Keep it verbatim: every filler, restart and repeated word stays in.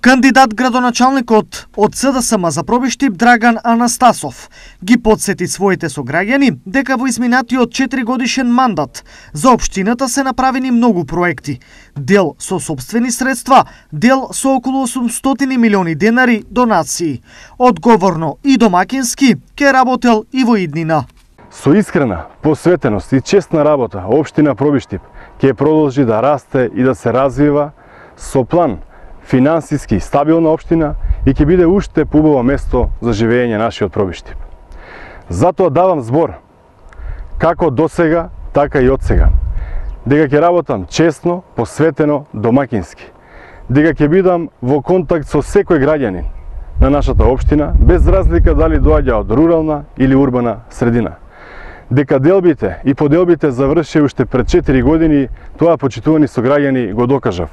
Кандидат градоначалникот од С Д С М за Пробиштип Драган Анастасов ги потсети своите сограѓани дека во изминатиот четиригодишен мандат за општината се направени многу проекти, дел со сопствени средства, дел со околу осумстотини милиони денари донации. Одговорно и домакински ке работел и во иднина. Со искрена посветеност и честна работа, општина Пробиштип ќе продолжи да расте и да се развива со план финансиски стабилна општина и ќе биде уште поубаво место за живење нашиот Пробиштип. Затоа давам збор, како досега, така и одсега, дека ќе работам честно, посветено, домакински, дека ќе бидам во контакт со секој граѓанин на нашата општина, без разлика дали доаѓа од рурална или урбана средина. Дека делбите и поделбите заврши уште пред четири години, тоа почитувани сограѓани го докажав.